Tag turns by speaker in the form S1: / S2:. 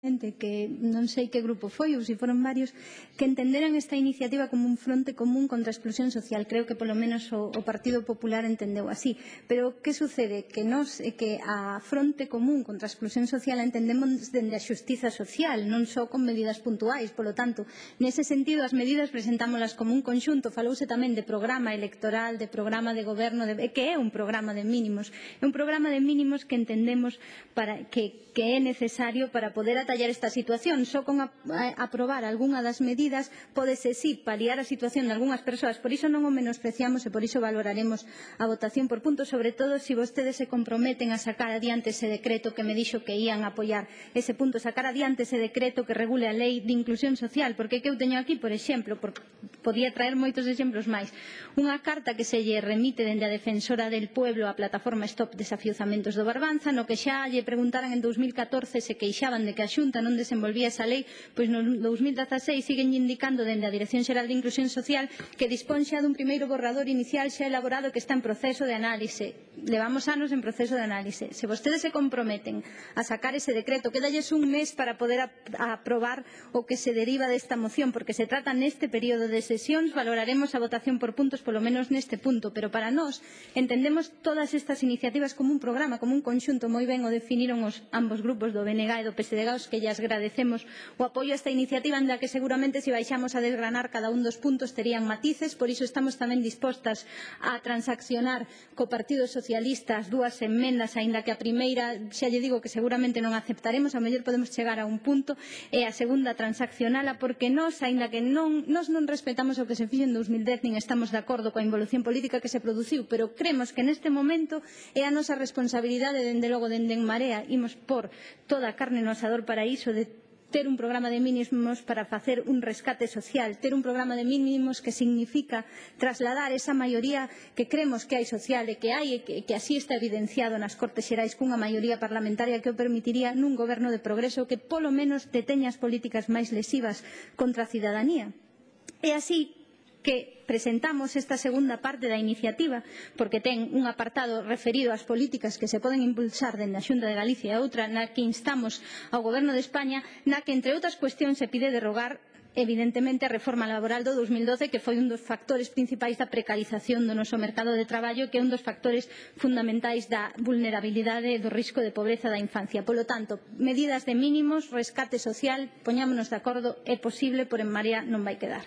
S1: que non sei que grupo foi ou se foron varios, que entenderan esta iniciativa como un fronte común contra a exclusión social. Creo que polo menos o Partido Popular entendeu así. Pero que sucede? Que a fronte común contra a exclusión social entendemos dende a xustiza social, non só con medidas puntuais. Polo tanto, nese sentido, as medidas presentámolas como un conxunto. Falouse tamén de programa electoral, de programa de goberno, que é un programa de mínimos. É un programa de mínimos que entendemos que é necesario para poder atallar esta situación. Só con aprobar algunha das medidas pódese sí paliar a situación de algunhas persoas. Por iso non o menospreciamos e por iso valoraremos a votación por puntos, sobre todo se vostedes se comprometen a sacar adiante ese decreto que me dixo que ían a apoiar ese punto, sacar adiante ese decreto que regule a lei de inclusión social, porque que eu teño aquí, por exemplo, podía traer moitos exemplos máis, unha carta que se lle remite dende a Defensora del Pueblo á plataforma Stop Desafiuzamentos do Barbanza, no que xa lle preguntaran en 2014 se queixaban de que a Xunta non desenvolvía esa lei, pois no 2016 siguen indicando dende a Dirección Xeral de Inclusión Social que dispón xa dun primeiro borrador inicial xa elaborado que está en proceso de análise. Levamos anos en proceso de análise. Se vostedes se comprometen a sacar ese decreto, quedalles un mes para poder aprobar o que se deriva desta moción, porque se trata neste período de sesións, valoraremos a votación por puntos, polo menos neste punto, pero para nós entendemos todas estas iniciativas como un programa, como un conxunto. Moi ben o definiron ambos grupos do BNG e do PSDG, aos que lles agradecemos o apoio a esta iniciativa, en la que seguramente se baixamos a desgranar cada un dos puntos terían matices. Por iso estamos tamén dispostas a transaccionar co Partido Socialista as dúas enmendas, aínda que a primeira xa lle digo que seguramente non aceptaremos, a mellor podemos chegar a un punto, e a segunda transaccionala, porque nós, aínda que non respetamos o que se fixo en 2010 nin estamos de acordo coa involución política que se produciu, pero cremos que neste momento é a nosa responsabilidade, dende logo dende En Marea, imos por toda a carne no asador para iso, de ter un programa de mínimos para facer un rescate social, ter un programa de mínimos que significa trasladar esa maioría que cremos que hai social e que hai, e que así está evidenciado nas Cortes Xerais, cunha maioría parlamentaria que o permitiría nun goberno de progreso que polo menos deteña as políticas máis lesivas contra a cidadanía. E así que presentamos esta segunda parte da iniciativa, porque ten un apartado referido ás políticas que se poden impulsar dende a Xunta de Galicia e outra na que instamos ao Goberno de España, na que, entre outras cuestións, se pide derrogar evidentemente a reforma laboral do 2012, que foi un dos factores principais da precarización do noso mercado de traballo, que é un dos factores fundamentais da vulnerabilidade e do risco de pobreza da infancia. Polo tanto, medidas de mínimos, rescate social, poñámonos de acordo, é posible, por En Marea non vai quedar.